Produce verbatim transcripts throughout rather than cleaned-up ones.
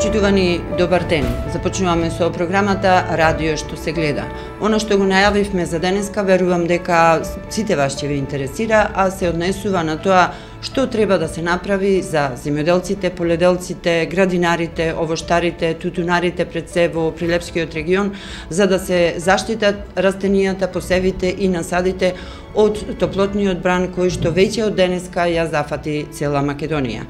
Почитувани, добар ден. Започнуваме со програмата Радио што се гледа. Она што го најавивме за денеска, верувам дека сите вас ќе ви интересира, а се однесува на тоа што треба да се направи за земјоделците, поледелците, градинарите, овоштарите, тутунарите пред се во Прилепскиот регион, за да се заштитат растенијата, посевите и насадите од топлотниот бран кој што веќе од денеска ја зафати цела Македонија.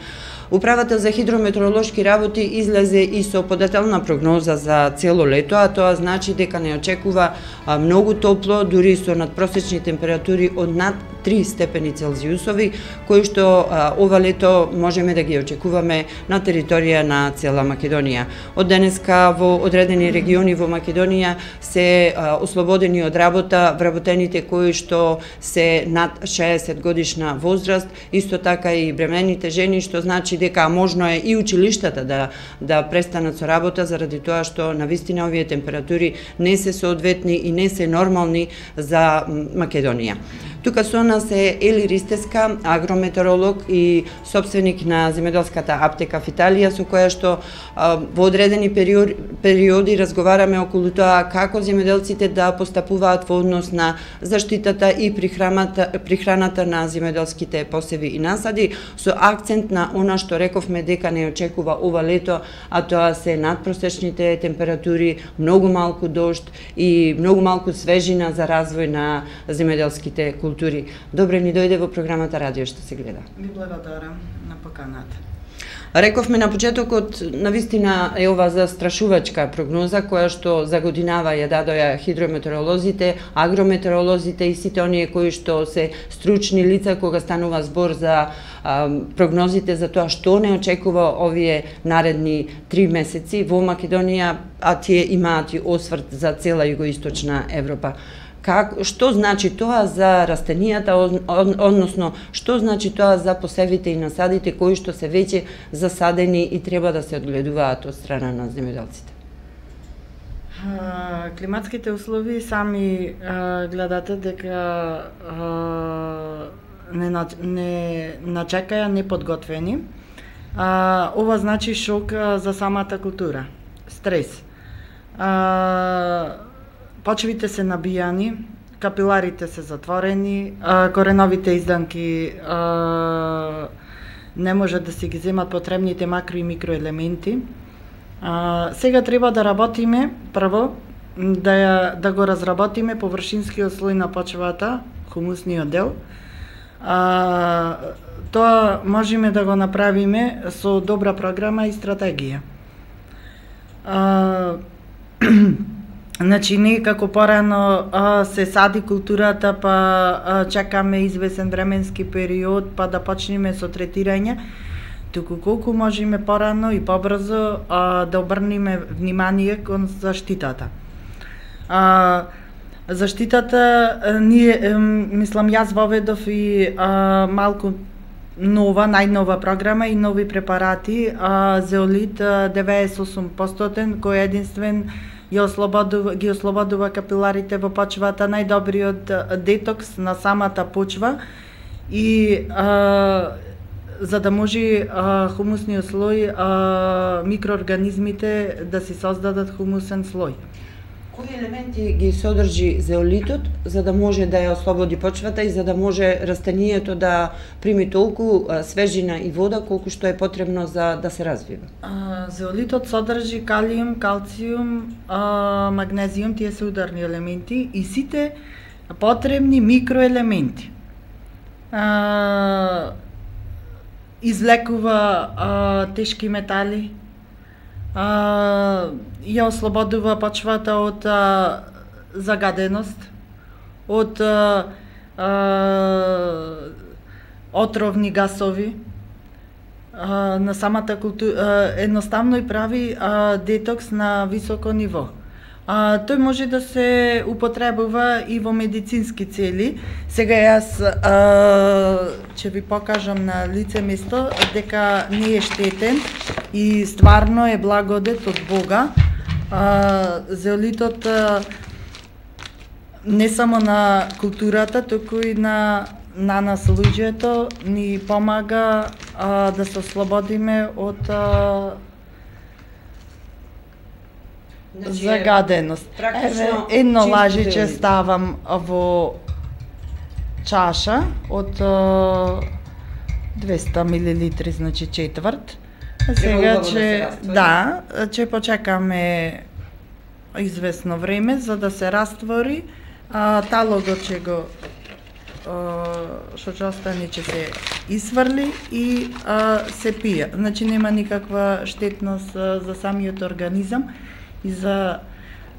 Управата за хидрометеоролошки работи излезе и со подетелна прогноза за цело лето, а тоа значи дека не очекува многу топло, дури со надпросечни температури од над три степени Целзиусови, кои што а, ова лето можеме да ги очекуваме на територија на цела Македонија. Од денеска во одредени региони во Македонија се а, ослободени од работа вработените кои што се над шеесет годишна возраст, исто така и бремените жени, што значи дека можно е и училиштата да да престанат со работа заради тоа што навистина овие температури не се соодветни и не се нормални за Македонија. Тука со нас е Ели Ристеска, агрометеоролог и собственик на земјоделската аптека в Италија, со која што а, во одредени периоди, периоди разговараме околу тоа како земјоделците да постапуваат во однос на заштитата и прихраната, прихраната на земјоделските посеви и насади, со акцент на она што рековме дека не очекува ова лето, а тоа се надпросечните температури, многу малку дожд и многу малку свежина за развој на земјоделските култури. Добре ни дојде во програмата Радио што се гледа. Ви благодарам на поканата. Рековме на почетокот, навистина е ова застрашувачка прогноза која што за годинава ја дадоа хидрометеоролозите, агрометеоролозите и сите оние кои што се стручни лица кога станува збор за а, прогнозите за тоа што не очекува овие наредни три месеци во Македонија, а тие имаат и осврт за цела југоисточна Европа. Как, што значи тоа за растенијата, односно што значи тоа за посевите и насадите кои што се веќе засадени и треба да се одгледуваат од страна на земјоделците? Климатските услови сами а, гледате дека а, не, не начекаја неподготвени. А, ова значи шок а, за самата култура, стрес. А, Почвите се набијани, капиларите се затворени, кореновите изданки а, не може да си ги земат потребните макро и микроелементи. А, сега треба да работиме, прво, да, ја, да го разработиме површинскиот слој на почвата, хумусниот дел. А, тоа можеме да го направиме со добра програма и стратегија. А, Значи, не како порано а, се сади културата, па а, чекаме извесен временски период, па да почнеме со третирање, туку колку можеме порано и побрзо а, да обрнеме внимание кон заштитата. А, заштитата, а, ние, а, мислам, јас воведов и а, малку нова, најнова програма и нови препарати, а, зеолит деведесет и осум проценти, кој е единствен Ги ослободува, ги ослободува капиларите во почвата, најдобриот детокс на самата почва и а, за да може а, хумусниот слој, а, микроорганизмите да си создадат хумусен слој. Кои елементи ги содржи зеолитот за да може да ја ослободи почвата и за да може растенијето да прими толку свежина и вода колку што е потребно за да се развива? А, зеолитот содржи калиум, калциум, а, магнезиум, тие се ударни елементи и сите потребни микроелементи. А, извлекува а, тешки метали, Uh, ја ослободува почвата од uh, загаденост, од uh, uh, отровни гасови uh, на самата култура, uh, едноставно и прави uh, детокс на високо ниво. А, тој може да се употребува и во медицински цели. Сега јас а, ќе ви покажам на лице место дека не е штетен и стварно е благодет од Бога. А, зеолитот а, не само на културата, туку и на на нас луѓето ни помага а, да се ослободиме од а, Значи, загаденост. Еве, едно лажиче ставам во чаша од двеста милилитри, значи четврт. Сега че да, че почекаме известно време за да се раствори, а талогот ќе го што ќе остане ќе се исврли и а, се пие. Значи нема никаква штетност а, за самиот организам и за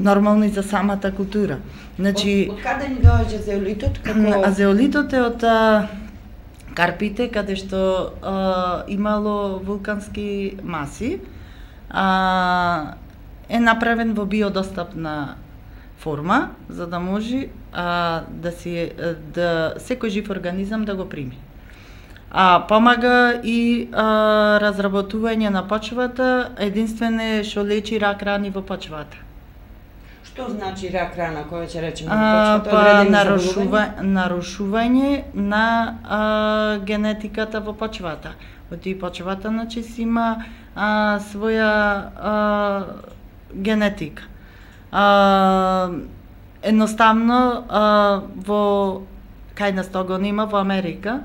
нормално и за самата култура. Значи од, од каде ни доаѓа зеолитот? Како а зеолитот е од а, Карпите, каде што а, имало вулкански маси, а, е направен во биодостапна форма, за да може а, да си да секој жив организам да го прими. А помага и а, разработување на почвата, единствено што лечи рак рани во почвата. Што значи рак рана, која ќе речеме во А, почвата? па Одредени нарушува, заболувања? нарушување на а, генетиката во почвата. Во тие почвата, значи, си има а, своја а, генетика. А, едноставно а, во кај нас того нема во Америка,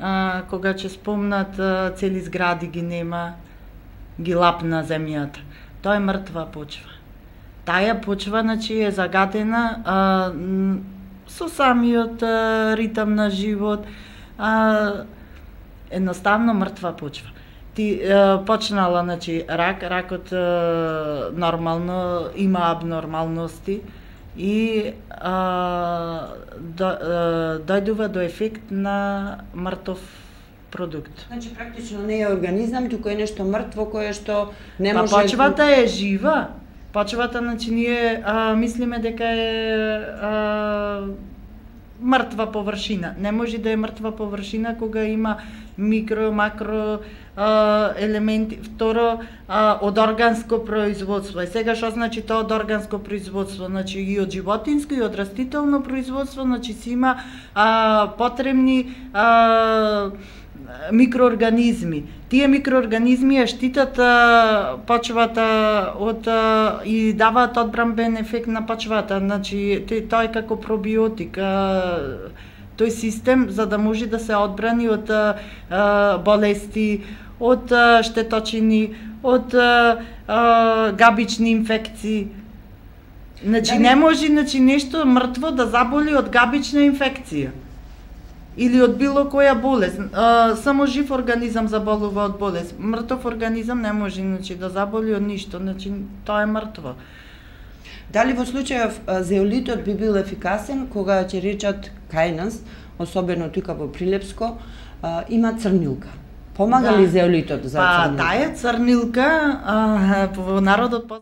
а, кога ќе спомнат а, цели згради ги нема, ги лапна земјата. Тоа е мртва почва. Таа почва, значи, е загадена а, со самиот а, ритам на живот, а, едноставно мртва почва. Ти а, почнала, значи, рак, ракот а, нормално има абнормалности и а, до, а, дојдува до ефект на мртов продукт. Значи практично не е организам, туку е нешто мртво кое што не Па може... почвата е жива. Почвата, значи, ние а, мислиме дека е а, мртва површина. Не може да е мртва површина кога има микро, макро а, елементи. Второ, а, од органско производство. И сега што значи тоа од органско производство? Значи и од животинско и од растително производство, значи си има а, потребни а, микроорганизми. Тие микроорганизми ја штитат а, почвата од а, и даваат одбранбен ефект на почвата. Значи тоа е како пробиотик. А, тој систем за да може да се одбрани од а, болести, од а, штеточини, од а, а, габични инфекции. Значи не може, значи, нешто мртво да заболи од габична инфекција или од било која болест. А, само жив организам заболува од болест. Мртов организам не може, значи, да заболи од ништо, значи тоа е мртво. Дали во случајов зеолитот би бил ефикасен кога ќе речат кај нас, особено тука во Прилепско, а, има црнилка? Помага Да. ли зеолитот за Па црнилка? таа црнилка а, во народот по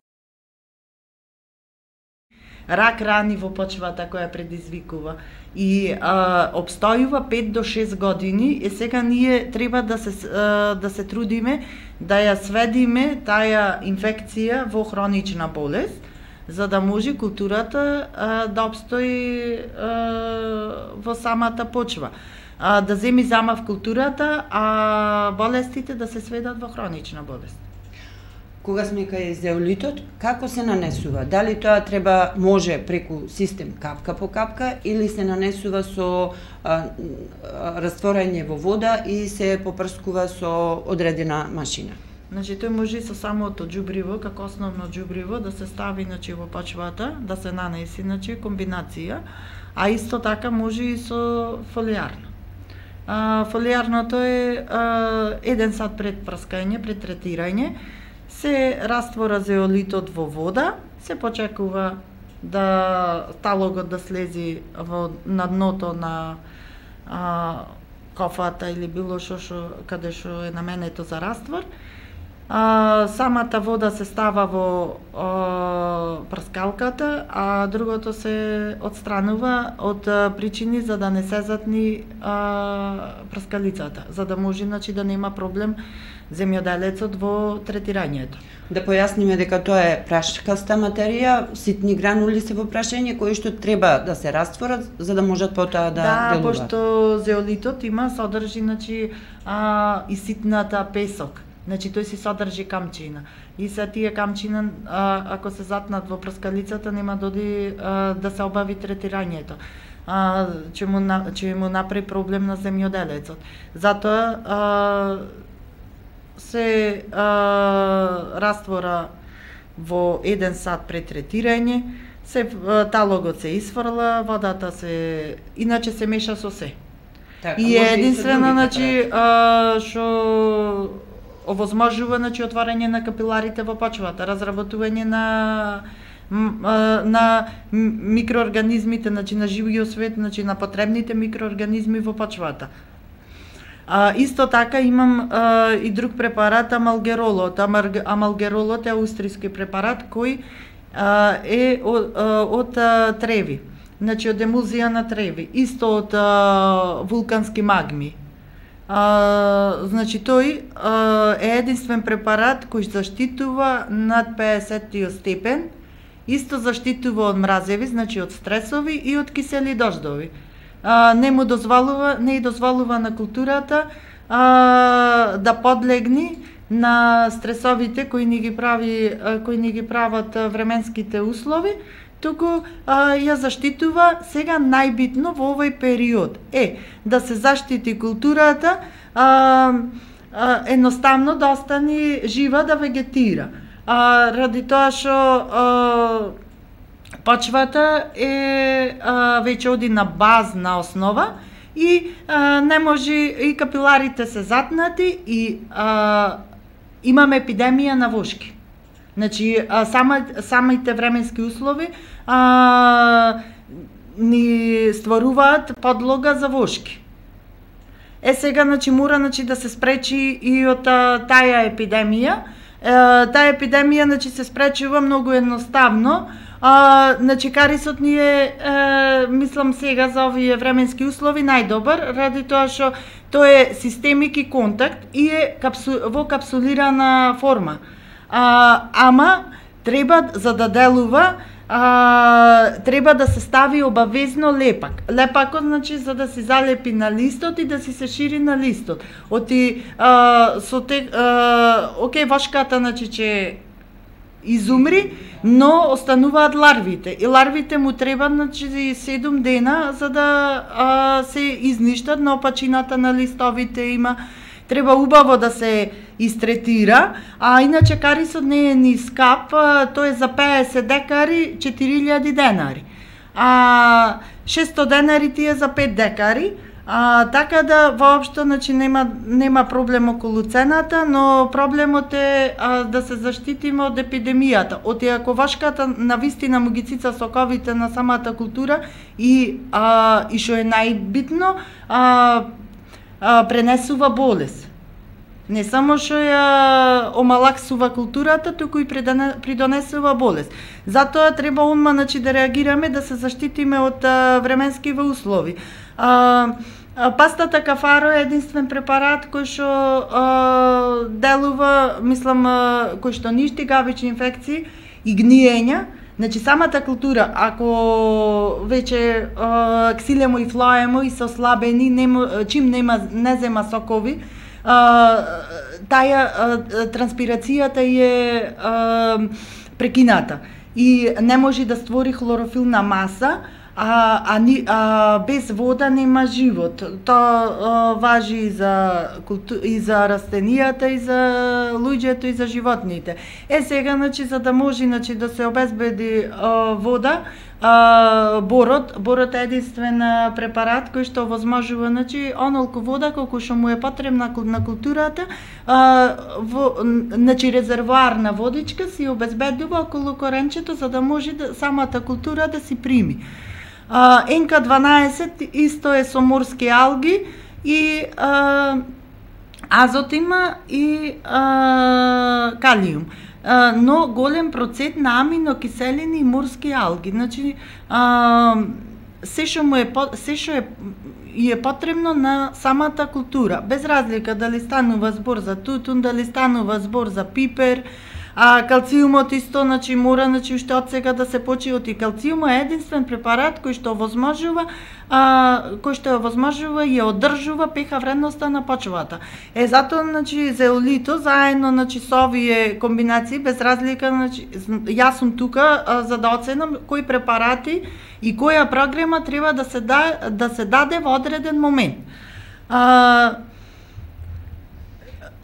рак рани во почвата која предизвикува и а, обстојува пет до шест години и сега ние треба да се а, да се трудиме да ја сведиме таа инфекција во хронична болест за да може културата а, да обстои а, во самата почва. А, да земи замав културата, а болестите да се сведат во хронична болест. Кога сме кај зеолитот, како се нанесува? Дали тоа треба може преку систем капка по капка или се нанесува со а, а, растворање во вода и се попрскува со одредена машина? Значи тој може и со самото џубриво, како основно џубриво, да се стави, значи, во почвата, да се нанеси, значи, комбинација, а исто така може и со фолијарно. А, фолијарното е а, еден сат пред прскање, пред третирање, се раствора зеолитот во вода, се почекува да талогот да слези во на дното на а, кофата или било што што каде што е наменето за раствор. А, самата вода се става во а, прскалката, а другото се отстранува од а, причини за да не се затни а, прскалицата, за да може, значи, да нема проблем земјоделецот во третирањето. Да појасниме дека тоа е прашкаста материја, ситни гранули се во прашање кои што треба да се растворат за да можат потоа да, да делуваат. пошто зеолитот има содржи, значи, а, и ситната песок. Значи тој си содржи камчина. И се тие камчина, а, ако се затнат во прскалицата, нема доди а, да се обави третирањето. А, че му че му направи проблем на земјоделецот. Затоа а, се а, раствора во еден сат пред третирање, се талогот се исфрла, водата се иначе се меша со се. Така, и е единствено, значи, што овозможува, значи, отварање на капиларите во почвата, разработување на на микроорганизмите, значи на живиот свет, значи на потребните микроорганизми во почвата. А, исто така имам а, и друг препарат, амалгеролот. Амалгеролот е аустријски препарат кој а, е од, од а, треви. Значи од емулзија на треви, исто од а, вулкански магми. А, значи тој а, е единствен препарат кој заштитува над педесеттиот степен, исто заштитува од мразеви, значи од стресови и од кисели дождови. А, не му дозволува, не и дозволува на културата а, да подлегни на стресовите кои ни ги прави кои ни ги прават временските услови, туку а, ја заштитува. Сега најбитно во овој период е да се заштити културата, а, а, едноставно да остане жива, да вегетира. А, ради тоа што почвата е а, веќе оди на базна основа и а, не може, и капиларите се затнати и а, имаме епидемија на вошки. Значи, а, сама, самите временски услови а, ни стваруваат подлога за вошки. Е сега, значи, мора, значи, да се спречи и од а, таја епидемија. Е, таа епидемија, значи, се спречува многу едноставно. А, значи, карисот ни е, е, мислам сега за овие временски услови најдобар, ради тоа што тој е системик и контакт и е капсу, во капсулирана форма. А, ама треба, за да делува, а, треба да се стави обавезно лепак. Лепакот, значи, за да се залепи на листот и да си се шири на листот. Оти а, со те, а, окей, вошката, значи, че изумри, но остануваат ларвите. И ларвите му треба, значи, седум дена за да а, се изништат, но опачината на листовите има. Треба убаво да се истретира, а иначе карисот не е ни скап, тој е за педесет декари четири илјади денари. А шесто денари ти е за пет декари. А, така да воопшто, значи, нема нема проблем околу цената, но проблемот е а, да се заштитиме од епидемијата. Од ако вашката навистина му ги цица соковите на самата култура и а, и што е најбитно, а, а, пренесува болест. Не само што ја омалаксува културата, туку и придонесува болест. Затоа треба одма, значи, да реагираме, да се заштитиме од а, временскиве услови. А, а, пастата кафаро е единствен препарат кој што а, делува, мислам, а, кој што ништи гавични инфекции и гниења. Значи, самата култура, ако веќе а, ксилемо и флоемо и се ослабени, нема, чим нема, не зема сокови, а, таја а, транспирацијата е а, прекината и не може да створи хлорофилна маса, а, а, а без вода нема живот. Тоа а, важи и за, култу... и за растенијата, и за луѓето, и за животните. Е сега, значи, за да може, значи, да се обезбеди а, вода, а, борот, борот е единствен препарат кој што овозможува, значи, онолку вода колку што му е потребна на културата, а, во, значи, резервоар на водичка си обезбедува околу коренчето за да може да, самата култура да си прими. Ен Ка дванаесет исто е со морски алги и а, азот има и а, калиум. А, но голем процент на аминокиселини и морски алги. Значи, а, се што му е се што е и е потребно на самата култура, без разлика дали станува збор за тутун, дали станува збор за пипер, А калциумот исто, значи мора значи уште од сега да се почне од калциумот е единствен препарат кој што овозможува а, кој што овозможува и одржува пеха вредноста на почвата. Е затоа значи зеолито заедно значи со овие комбинации без разлика значи јас сум тука а, за да оценам кои препарати и која програма треба да се да, да се даде во одреден момент. А,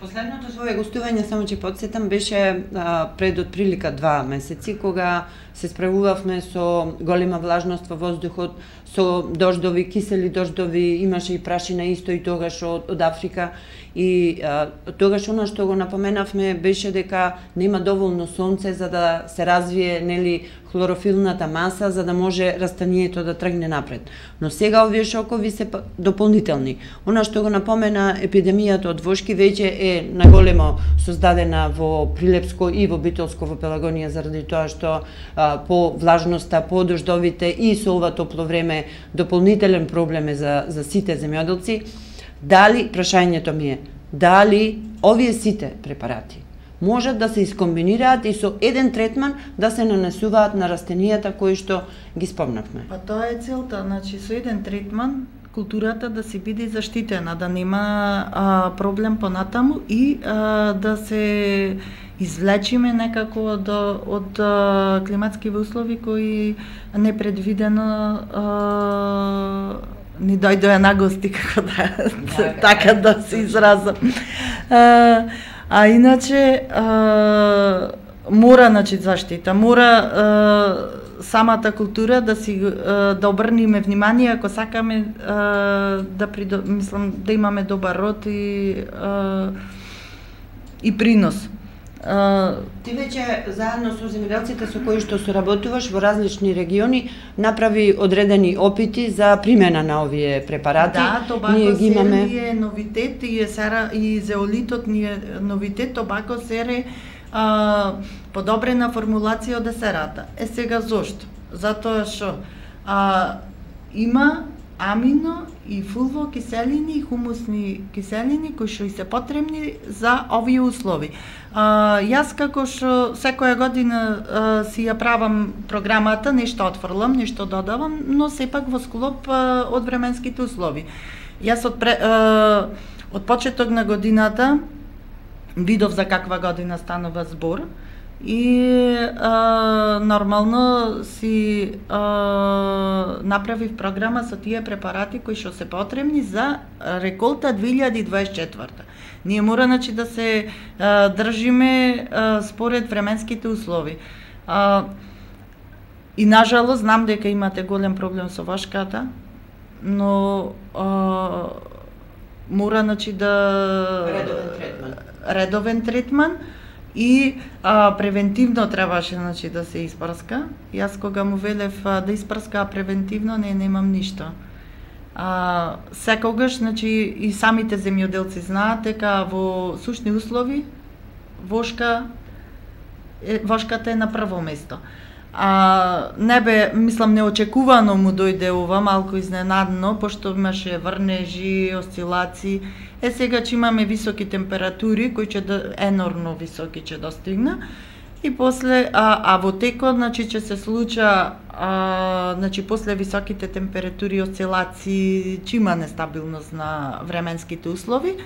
Последното свое гостување, само че подсетам, беше а, пред отприлика два месеци, кога се справувавме со голема влажност во воздухот, со дождови, кисели дождови, имаше и прашина исто и тогаш од, од Африка. И а, тогаш она што го напоменавме беше дека нема доволно сонце за да се развие нели хлорофилната маса за да може растанието да тргне напред. Но сега овие шокови се дополнителни. Она што го напомена епидемијата од вошки веќе е наголемо создадена во Прилепско и во Битолско во Пелагонија заради тоа што а, по влажноста, по дождовите и со ова топло време дополнителен проблем е за за сите земјоделци. Дали, прашањето ми е, дали овие сите препарати можат да се искомбинираат и со еден третман да се нанесуваат на растенијата кои што ги спомнавме? Па тоа е целта, значи со еден третман културата да си биде заштитена, да нема а, проблем понатаму и а, да се извлечиме некако од, од а, климатскиве услови кои непредвидено а, ни дојдоа на гости, како да, така да се изразам. А, а иначе, а, мора, значи, заштита, мора а, самата култура да си а, да обрниме внимание ако сакаме а, да придо, мислам да имаме добар род и а, и принос. Uh, Ти веќе заедно со земјоделците со кои што соработуваш во различни региони направи одредени опити за примена на овие препарати. Да, Тобако сере имаме... е новитет и е сера и зеолитот ни е новитет, Тобако сере а, подобрена формулација од есерата. Е сега зошто? Затоа што а, има амино и фулво киселини и хумусни киселини кои што и се потребни за овие услови. А, јас како што секоја година а, си ја правам програмата, нешто отфрлам, нешто додавам, но сепак во склоп а, од временските услови. Јас од, пре, а, од почеток на годината видов за каква година станува збор и а, нормално си а, направив програма со тие препарати кои што се потребни за реколта две илјади дваесет и четврта. Ние мора значи да се а, држиме а, според временските услови. А, и нажалост знам дека имате голем проблем со вошката, но а, мора значи да редовен третман. Редовен третман и а, превентивно требаше значи да се испрска. Јас кога му велев а, да испрска превентивно, не немам ништо. А, секогаш, значи, и самите земјоделци знаат дека во сушни услови вошка е, вошката е на прво место. А, не бе, мислам, неочекувано му дојде ова, малку изненадно, пошто имаше врнежи, осцилации. Е, сега че имаме високи температури, кои ќе да, енормно високи ќе достигна, и после, а, а во текот, значи, ќе се случа, а, значи, после високите температури, осцилации, че има нестабилност на временските услови,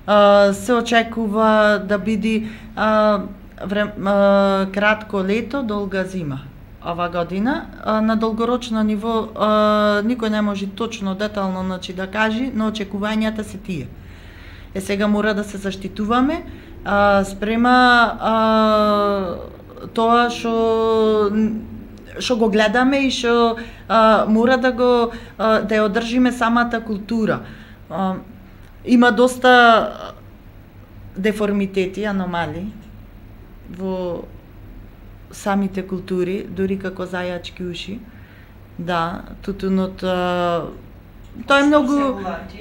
а, се очекува да биде а, Врем, а, кратко лето, долга зима ова година. А, на долгорочно ниво а, никој не може точно детално значи, да каже, но очекувањата се тие. Е сега мора да се заштитуваме а, спрема а, тоа што што го гледаме и што мора да го а, да ја одржиме самата култура. А, има доста деформитети, аномалии во самите култури, дури како зајачки уши. Да, тутунот тоа е многу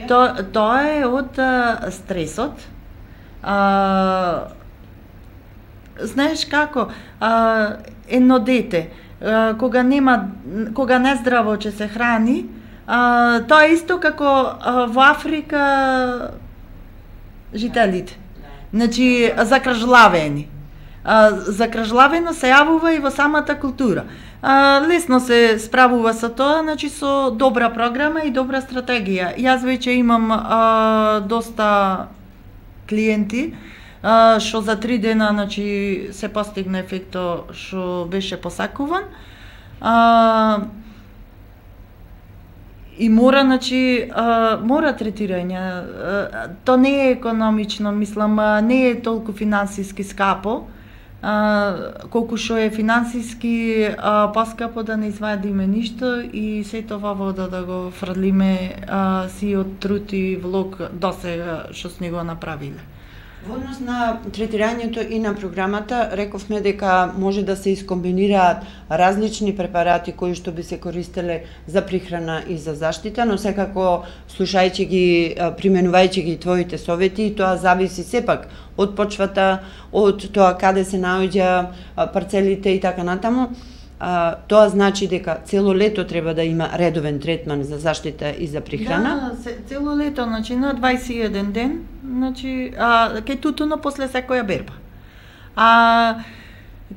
тоа тоа е од а, стресот. А, знаеш како а, едно дете а, кога нема кога нездраво ќе се храни, а, тоа е исто како а, во Африка жителите. Значи закржлавени. А, закражлавено се јавува и во самата култура. А, лесно се справува со тоа, значи со добра програма и добра стратегија. Јас веќе имам а, доста клиенти а, што за три дена значи се постигна ефекто што беше посакуван. А, И мора, значи, а, мора третирање. А, то не е економично, мислам, а, не е толку финансиски скапо, а, колку што е финансиски а, поскапо да не извадиме ништо и сето во вода да го фрлиме а, сиот труд и влог досега што сме го направиле. Во однос на третирањето и на програмата, рековме дека може да се искомбинираат различни препарати кои што би се користеле за прихрана и за заштита, но секако слушајќи ги, применувајќи ги твоите совети, тоа зависи сепак од почвата, од тоа каде се наоѓа парцелите и така натаму. А, тоа значи дека цело лето треба да има редовен третман за заштита и за прихрана? Да, цело лето, значи на дваесет и еден ден, значи, а, кај тутуно после секоја берба. А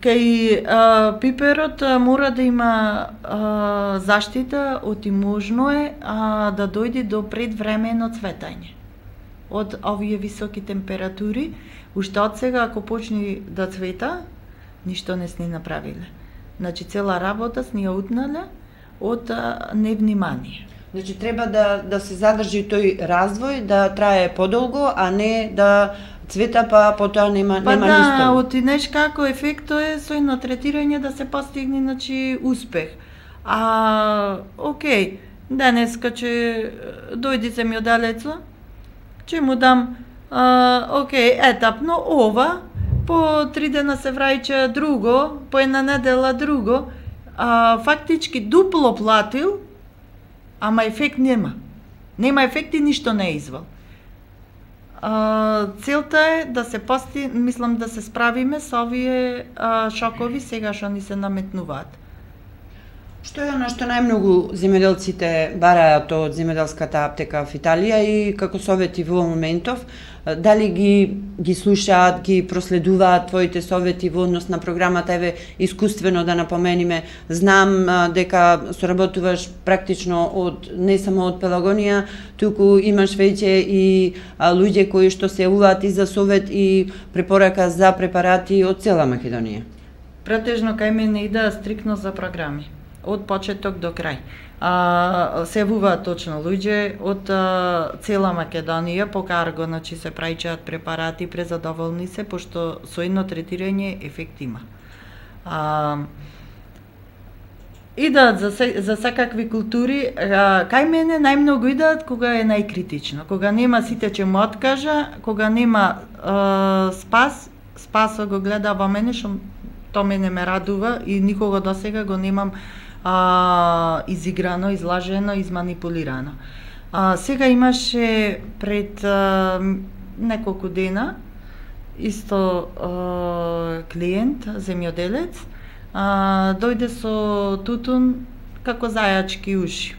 кај а, пиперот а, мора да има а, заштита, оти можно е а, да дојде до предвремено цветање. Од овие високи температури, уште од сега ако почне да цвета, ништо не сни направиле. Значи цела работа сни ја утнале од а, невнимание. Значи треба да да се задржи тој развој, да трае подолго, а не да цвета па потоа нема па нема да, ништо. Па да, отидеш како ефекто е со едно третирање да се постигне значи успех. А окей, денеска ќе дојди земјоделецо, ќе му дам а, окей, етапно ова, по три дена се враќа друго, по една недела друго, а, фактички дупло платил, ама ефект нема. Нема ефект и ништо не е извал. А, целта е да се пости, мислам да се справиме со овие а, шокови сега што ни се наметнуваат. Што е оно што најмногу земјоделците бараат од земјоделската аптека в Италија и како совети во моментов? Дали ги ги слушаат, ги проследуваат твоите совети во однос на програмата? Еве, искуствено да напомениме, знам а, дека соработуваш практично од не само од Пелагонија, туку имаш веќе и а, луѓе кои што се јавуваат и за совет и препорака за препарати од цела Македонија. Претежно кај мене иде стрикно за програми, од почеток до крај. А, се јавуваат точно луѓе од а, цела Македонија по карго, значи се праќаат препарати, презадоволни се, пошто со едно третирање ефект има. А, идат за, се, за секакви култури, а, кај мене најмногу идат кога е најкритично, кога нема сите ќе му откажа, кога нема а, спас, спасо го гледа во мене, што то мене ме радува и никога досега го немам а, изиграно, излажено, изманипулирано. А, сега имаше пред а, неколку дена исто а, клиент, земјоделец, а, дојде со тутун како зајачки уши.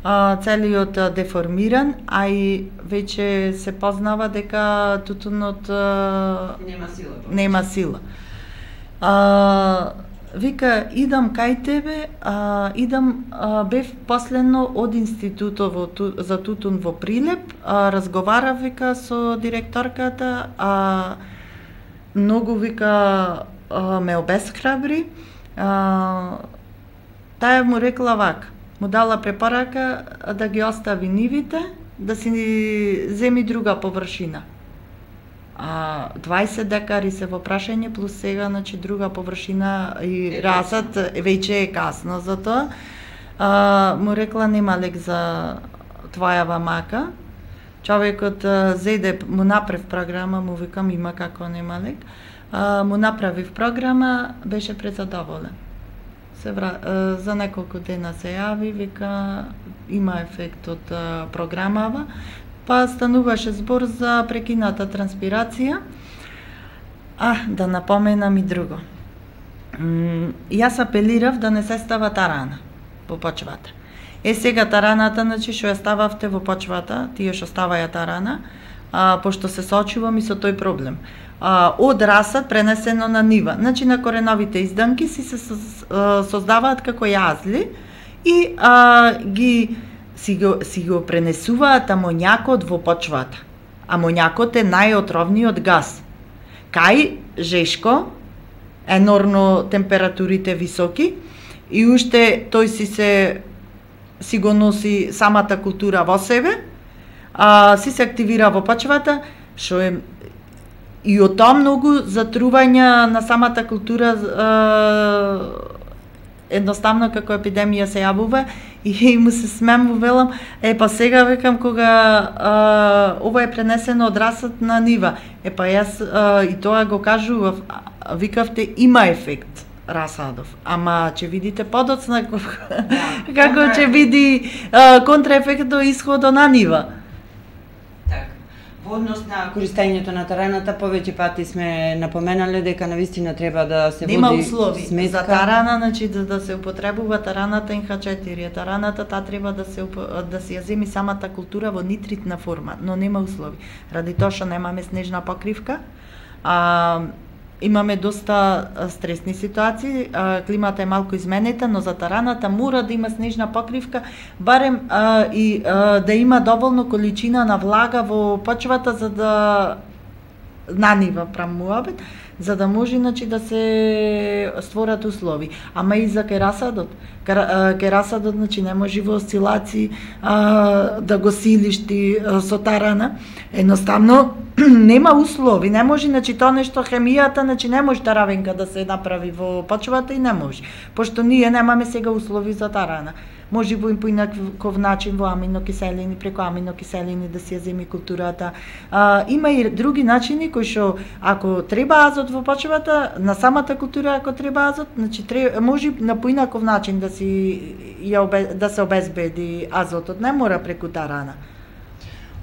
А, целиот а, деформиран, а и веќе се познава дека тутунот а, Нема сила. Нема сила. А, вика, идам кај тебе, а, идам, а, бев последно од институтот во, ту, за тутун во Прилеп, а, разговарав, вика, со директорката, а многу, вика, а, ме обесхрабри, а, таа му рекла вака, му дала препорака да ги остави нивите, да си земи друга површина. А дваесет декари се во прашање, плюс сега, значи, друга површина и расат, веќе е касно за тоа. А, му рекла, нема лек за твојава мака. Човекот а, зеде, му направив програма, му викам, има како нема лек. А, му направив програма, беше презадоволен. Се вра... а, за неколку дена се јави, вика, има ефект од а, програмава. Па стануваше збор за прекината транспирација. А, да напоменам и друго. М, јас апелирав да не се става тарана во почвата. Е, сега тараната, значи, што ја стававте во почвата, тие што ставаја тарана, а, пошто се соочувам и со тој проблем. а, од расат пренесено на нива. Значи на кореновите изданки си се создаваат како јазли и а, ги си го, си го пренесуваат амоњакот во почвата. Амоњакот е најотровниот газ. Кај Жешко, енормно температурите високи и уште тој си се си го носи самата култура во себе, а, си се активира во почвата, што е и од тоа многу затрување на самата култура а, едноставно како епидемија се јавува и му се смеам во велам, е па сега векам кога а, ова е пренесено од расот на нива. Е па јас а, и тоа го кажував, викавте има ефект расадов, ама ќе видите подоцна да, како ќе види а, контраефектот исходот на нива. Во однос на користењето на тараната, повеќе пати сме напоменале дека навистина треба да се Нема води услови сметка. За тарана, значи да, да се употребува тараната ен ха четири. Тараната таа треба да се да се ја земи самата култура во нитритна форма, но нема услови. Ради тоа што немаме снежна покривка, а имаме доста стресни ситуации, а, климата е малку изменета, но за тараната мора да има снежна покривка, барем а, и а, да има доволно количина на влага во почвата за да на нива прамуабет, за да може значи да се створат услови. Ама и за керасадот. Керасадот значи не може во осцилации а, да го силиш ти а, со тарана. Едноставно нема услови, не може, значи тоа нешто хемијата, значи не може таравенка да се направи во почвата и не може. Пошто ние немаме сега услови за тарана. Може во поинаков начин во аминокиселини, преку аминокиселини да се ја земи културата. А, има и други начини кои што ако треба азот во почвата, на самата култура ако треба азот, значи треба, може на поинаков начин да си ја да се обезбеди азотот, не мора преку тарана.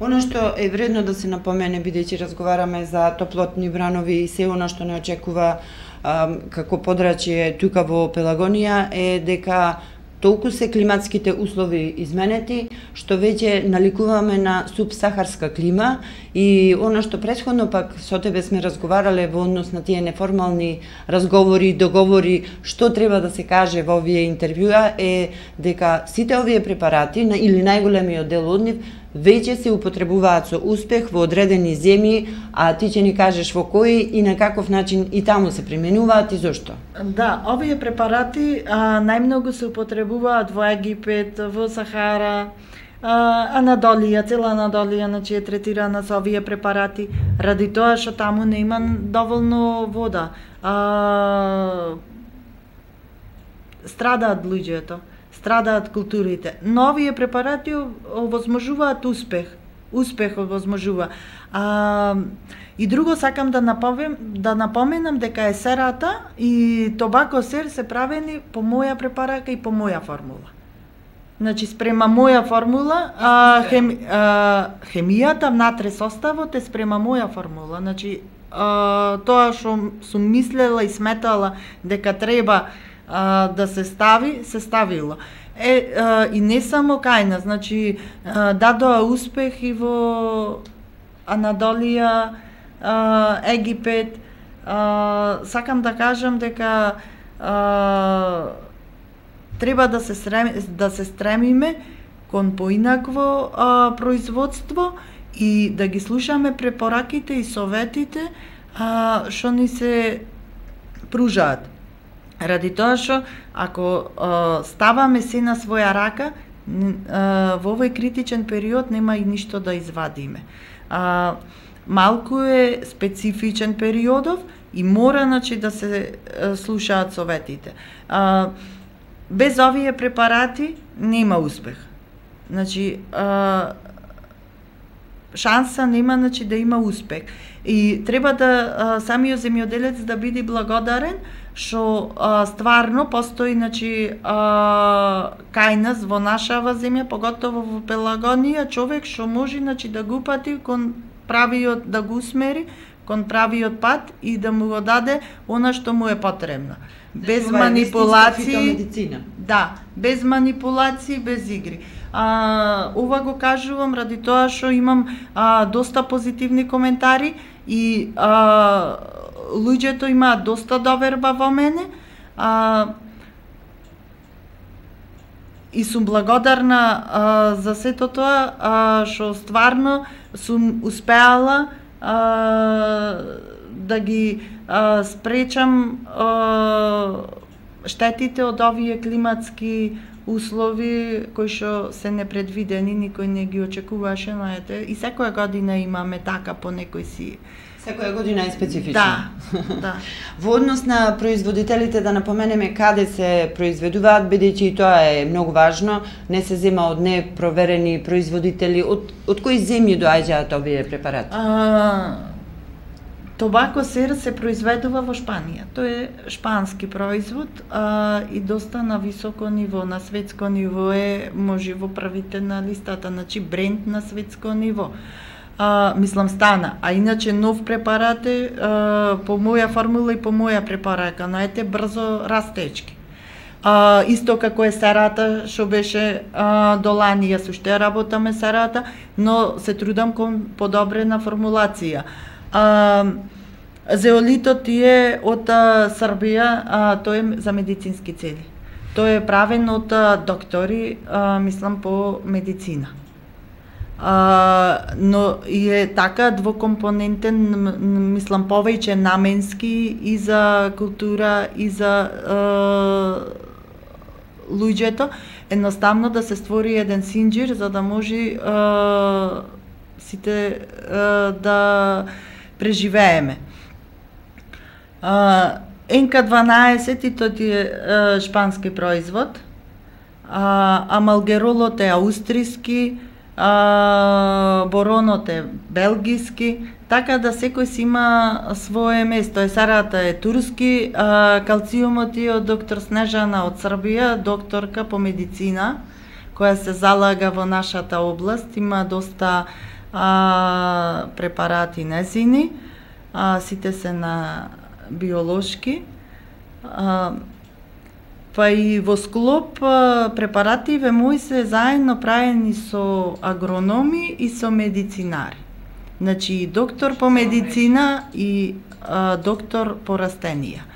Оно што е вредно да се напомене, бидејќи разговараме за топлотни бранови и се оно што не очекува а, како подрачје тука во Пелагонија е дека толку се климатските услови изменети, што веќе наликуваме на субсахарска клима и оно што претходно пак со тебе сме разговарале во однос на тие неформални разговори, договори, што треба да се каже во овие интервјуа е дека сите овие препарати или најголемиот дел од нив веќе се употребуваат со успех во одредени земји, а ти ќе ни кажеш во кои и на каков начин и таму се применуваат и зошто? Да, овие препарати а, најмногу се употребуваат во Египет, во Сахара, а, Анадолија, цела Анадолија, значи е третирана со овие препарати, ради тоа што таму не има доволно вода. А, страдаат луѓето. Страдаат културите. Но овие препарати овозможуваат успех. Успех овозможува. А, и друго сакам да напомнам, да напоменам дека есерата и тобако сер се правени по моја препарака и по моја формула. Значи спрема моја формула, а, хем, а, хемијата внатре составот е спрема моја формула. Значи а, тоа што сум мислела и сметала дека треба А, да се стави, се ставило. Е, а, и не само кај нас, значи а, дадоа успех и во Анадолија, а, Египет. А, сакам да кажам дека а, треба да се стрем, да се стремиме кон поинакво а, производство и да ги слушаме препораките и советите а, што ни се пружаат. Ради тоа што ако а, ставаме се на своја рака, а, во овој критичен период нема и ништо да извадиме. А, малку е специфичен периодов и мора значи да се а, слушаат советите. А, без овие препарати нема успех. Значи а, шанса нема значи да има успех. И треба да а, самиот земјоделец да биде благодарен што стварно постои значи а, кај нас во нашава земја, поготово во Пелагонија, човек што може значи да го упати кон правиот, да го усмери кон правиот пат и да му го даде она што му е потребно. Без манипулации. Да, без манипулации, без игри. А, ова го кажувам ради тоа што имам а, доста позитивни коментари и а, луѓето имаат доста доверба во мене. А, и сум благодарна а, за сето тоа а, што стварно сум успеала а, да ги а, спречам а, штетите од овие климатски услови кои што се непредвидени, никој не ги очекуваше, знаете, и секоја година имаме така по некој си. Секоја година е специфична. Да, да. Во однос на производителите да напоменеме каде се произведуваат, бидејќи и тоа е многу важно, не се зема од непроверени производители, од, од кои земји доаѓаат овие препарати? А, Тобако сер се произведува во Шпанија. Тој е шпански производ а, и доста на високо ниво, на светско ниво е, може во првите на листата, значи бренд на светско ниво. А, мислам стана, а иначе нов препарат е а, по моја формула и по моја препорака, наете брзо растечки. А, исто како е серата што беше а, до лани, јас уште работаме серата, но се трудам кон подобрена формулација. А, зеолитот е од а, Србија, а, тој е за медицински цели. Тој е правен од а, доктори, а, мислам по медицина. А, но и е така двокомпонентен, мислам повеќе наменски и за култура и за а, луѓето, едноставно да се створи еден синџир за да може а, сите а, да преживееме. Ен Ка дванаесет и тој е шпански производ, а, амалгеролот е аустријски, а, боронот е белгиски, така да секој си има свое место. Есарата е турски, а, калциумот е од доктор Снежана од Србија, докторка по медицина, која се залага во нашата област, има доста а, препарати незини, а, сите се на биолошки, а, па и во склоп а, препаративе мои се заедно правени со агрономи и со медицинари. Значи доктор по медицина и а, доктор по растенија.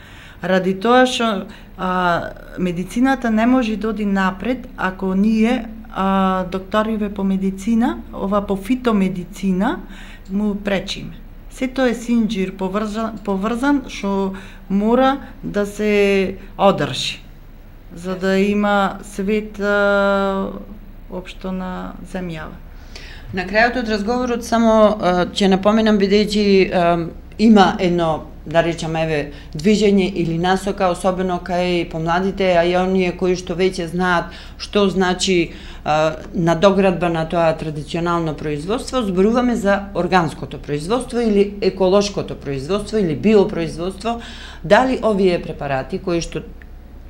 Ради тоа што а, медицината не може да оди напред ако ние а, докториве по медицина, ова по фитомедицина, му пречиме. Сето е синџир поврзан, поврзан што мора да се одржи, за да има свет а, општо на земјава. На крајот од разговорот само ќе напоменам, бидејќи има едно, да речеме, еве, движење или насока, особено кај помладите, а и оние кои што веќе знаат што значи а, надоградба на тоа традиционално производство, зборуваме за органското производство или еколошкото производство или биопроизводство. Дали овие препарати кои што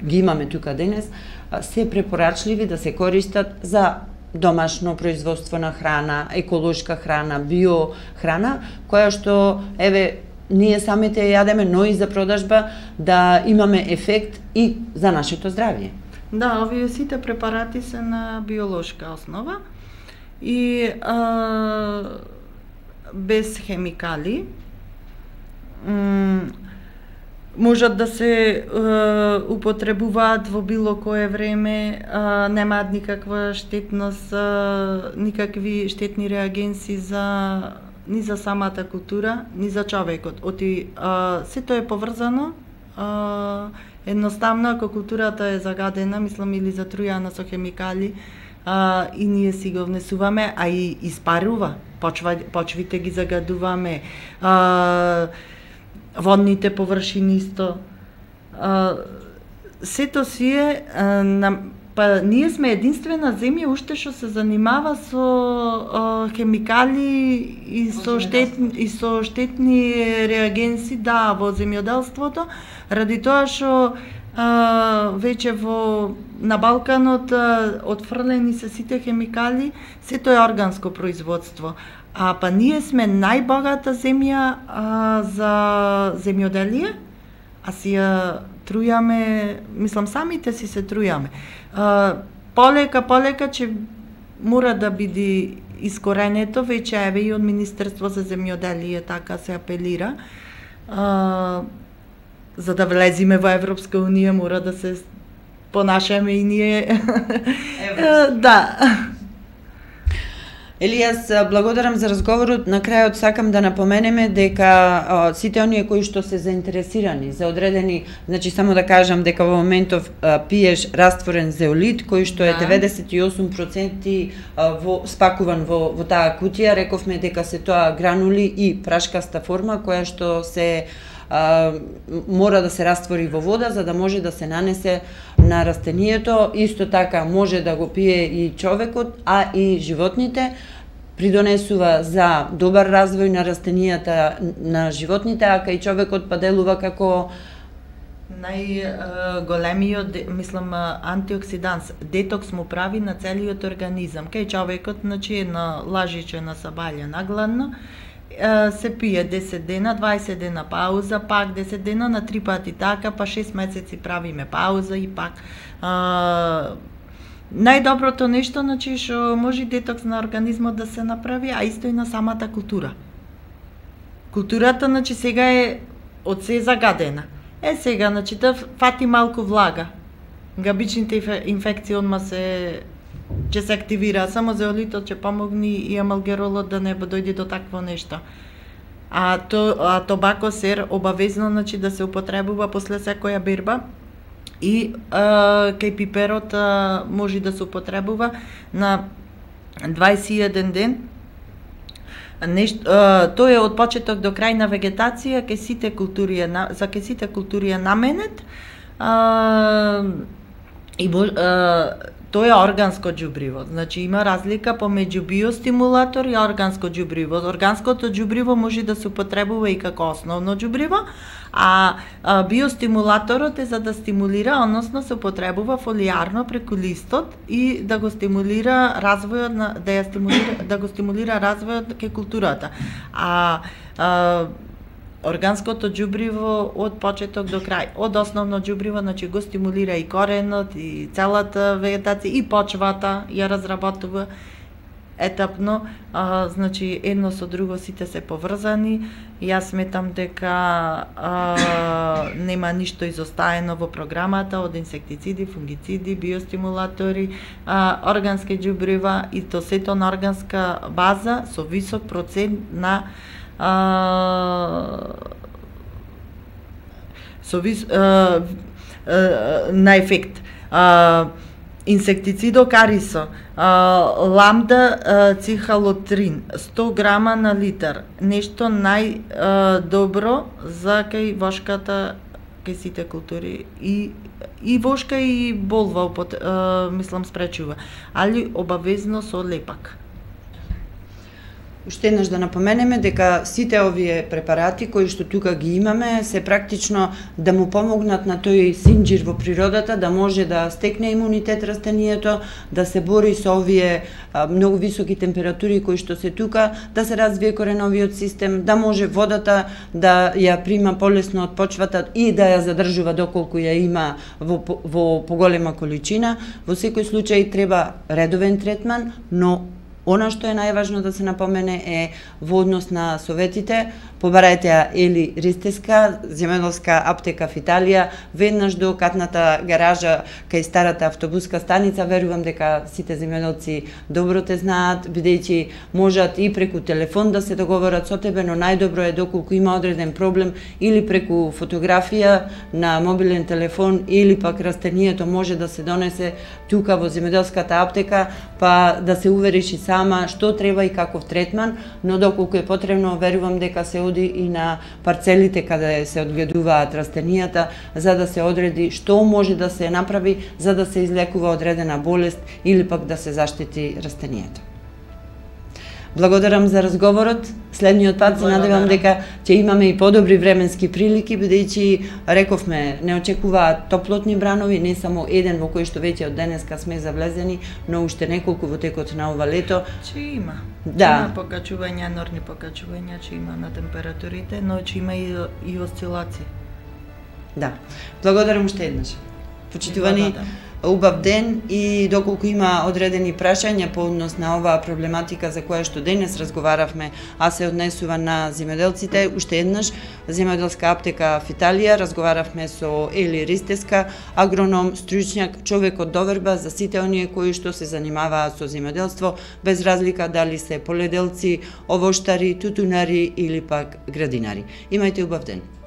ги имаме тука денес се препорачливи да се користат за домашно производство на храна, еколошка храна, биохрана, која што, еве, ние самите јадеме, но и за продажба, да имаме ефект и за нашето здравје. Да, овие сите препарати се на биолошка основа и а, без хемикали. М можат да се е, употребуваат во било кое време, е, немаат никаква штетност, е, никакви штетни реагенси за ни за самата култура, ни за човекот. Оти е, сето е поврзано, е, едноставно ако културата е загадена, мислам, или затрујана со хемикали, а, и ние си го внесуваме, а и испарува, почва, почвите ги загадуваме, а, водните површини исто. А, сето си е, а, на, па ние сме единствена земја уште што се занимава со а, хемикали и со штетни и со штетни реагенси, да, во земјоделството, ради тоа што а, веќе во на Балканот а, отфрлени се сите хемикали, сето е органско производство. А па ние сме најбогата земја а, за земјоделие, а си ја трујаме, мислам самите си се трујаме. А, полека, полека ќе мора да биде искоренето, веќе еве и од Министерство за земјоделие така се апелира. А, за да влезиме во Европска унија мора да се понашаме и ние. Да. Елијас, благодарам за разговорот. На крајот сакам да напоменеме дека а, сите оние кои што се заинтересирани за одредени, значи само да кажам дека во моментов а, пиеш растворен зеолит кој што е деветдесет и осум проценти а, во спакуван во во таа кутија, рековме дека се тоа гранули и прашкаста форма која што се а, мора да се раствори во вода за да може да се нанесе на растението. Исто така може да го пие и човекот, а и животните. Придонесува за добар развој на растенијата на животните, а кај човекот па делува како најголемиот, мислам, антиоксиданс, детокс му прави на целиот организам. Кај човекот, значи, на лажиче на сабаља нагладно, се пие десет дена, дваесет дена пауза, пак десет дена, на три пати така, па шест месеци правиме пауза и пак. А, најдоброто нешто, значи, што може детокс на организмот да се направи, а исто и на самата култура. Културата, значи, сега е од се загадена. Е, сега, значи, да фати малку влага. Габичните инфекции одма се ќе се активира, само зеолитот ќе помогни и амалгеролот да не дојде до такво нешто. А то а тобако сер обавезно, значи, да се употребува после секоја берба и а, кај пиперот а, може да се употребува на дваесет и еден ден. Нешто, а, тоа е од почеток до крај на вегетација, кај сите култури е, за кај сите култури е наменет. А, и а, Тоа е органско џубриво. Значи има разлика помеѓу биостимулатор и органско џубриво. Органското џубриво може да се употребува и како основно џубриво, а, а биостимулаторот е за да стимулира, односно се употребува фолијарно преку листот и да го стимулира развојот на да ја стимулира да го стимулира развојот кај културата. А, а органското џубриво од почеток до крај, од основно џубриво, значи го стимулира и коренот, и целата вегетација, и почвата ја разработува етапно, а, значи едно со друго сите се поврзани. Јас сметам дека а, нема ништо изостаено во програмата од инсектициди, фунгициди, биостимулатори, а, органски џубрива и то сето на органска база со висок процент на Uh, со вис, uh, uh, на ефект. Uh, инсектицидо карисо, uh, ламда uh, цихалотрин, сто грама на литар. Нешто најдобро uh, за кај вошката, кај сите култури. И и вошка и болва, uh, мислам, спречува. Али обавезно со лепак. Уште еднаш да напоменеме дека сите овие препарати кои што тука ги имаме се практично да му помогнат на тој синџир во природата да може да стекне имунитет растението, да се бори со овие а, многу високи температури кои што се тука, да се развие кореновиот систем, да може водата да ја прима полесно од почвата и да ја задржува доколку ја има во, во поголема количина. Во секој случај треба редовен третман, но она што е најважно да се напомене е во однос на советите. Побарајте ја Ели Ристеска, земјоделска аптека в Италија, веднаш до катната гаража кај старата автобуска станица. Верувам дека сите земјоделци добро те знаат, бидејќи можат и преку телефон да се договорат со тебе, но најдобро е доколку има одреден проблем или преку фотографија на мобилен телефон или пак растението може да се донесе тука во земјоделската аптека, па да се увериш и сама што треба и каков третман, но доколку е потребно, верувам дека се оди и на парцелите каде се одгледуваат растенијата, за да се одреди што може да се направи за да се излекува одредена болест или пак да се заштити растенијата. Благодарам за разговорот. Следниот пат се надевам дека ќе имаме и подобри временски прилики, бидејќи рековме не очекуваат топлотни бранови, не само еден во кој што веќе од денеска сме завлезени, но уште неколку во текот на ова лето. Че има. Да. Има покачувања, норни покачувања, че има на температурите, но че има и, и осцилации. Да. Благодарам уште еднаш. Почитувани убав ден и доколку има одредени прашања по однос на оваа проблематика за која што денес разговаравме, а се однесува на земјоделците, уште еднаш земјоделска аптека в Италија, разговаравме со Ели Ристеска, агроном, стручњак, човек од доверба за сите оние кои што се занимаваат со земјоделство, без разлика дали се поледелци, овоштари, тутунари или пак градинари. Имајте убав ден.